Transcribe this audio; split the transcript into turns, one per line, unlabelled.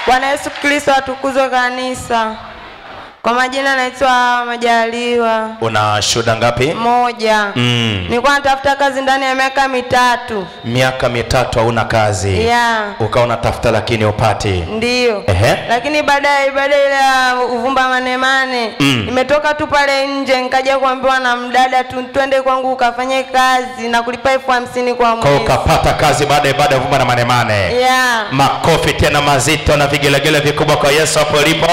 Bwana Yesu Kristo atukuzwe kanisa. Kwa majina naitwa Majaliwa.
Una shuhuda ngapi?
Moja. Nilikuwa natafuta kazi ndani ya miaka 3.
Miaka 3 hauna kazi.
Yeah.
Ukawa unatafuta lakini upati.
Ndio. Lakini baada ya ibada ile ya uvumba manemane, nimetoka tu pale nje nikaja kuambiwa na mdada tu twende kwangu ukafanye kazi na kulipa 50,000 kwa mwezi.
Kwa ukapata kazi baada ya ibada ya uvumba na manemane.
Yeah.
Makofi tena mazito na vigelegele vikubwa kwa Yesu hapo ulipo.